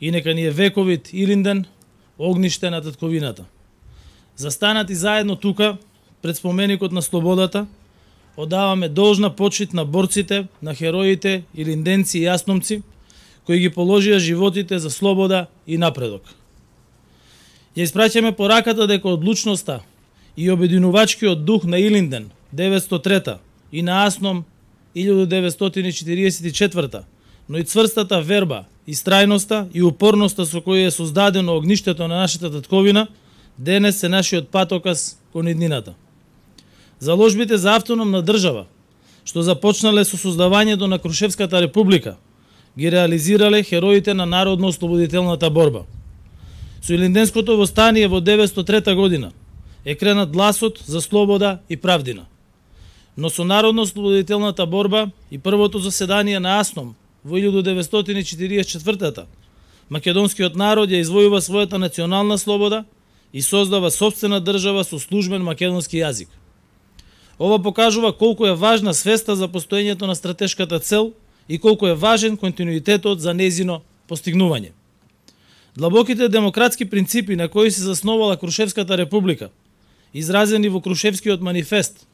и нека ни е вековит Илинден огниште на татковината. Застанати заедно тука, пред споменикот на слободата, одаваме должна почит на борците, на хероите, илинденци и јасномци, кои ги положија животите за слобода и напредок. Ја испраќаме пораката дека одлучноста и обединувачкиот дух на Илинден 903 и на Асном 1944, но и цврстата верба, истрајноста и упорноста со која е создадено огништето на нашата татковина, денес е нашиот патоказ кон иднината. Заложбите за автономна држава, што започнале со создавањето на Крушевската република, ги реализирале хероите на народно-ослободителната борба. Со Илинденското востание во 903 година е кренат гласот за слобода и правдина. Но со народно-ослободителната борба и првото заседание на Асном во 1944 македонскиот народ ја извојува својата национална слобода и создава сопствена држава со службен македонски јазик. Ова покажува колку е важна свеста за постоењето на стратешката цел и колку е важен континуитетот за нејзино постигнување. Длабоките демократски принципи на кои се засновала Крушевската република, изразени во Крушевскиот манифест,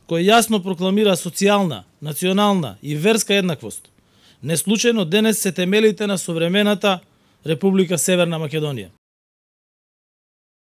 кој јасно прокламира социјална, национална и верска еднаквост, неслучајно денес се темелите на современата Република Северна Македонија.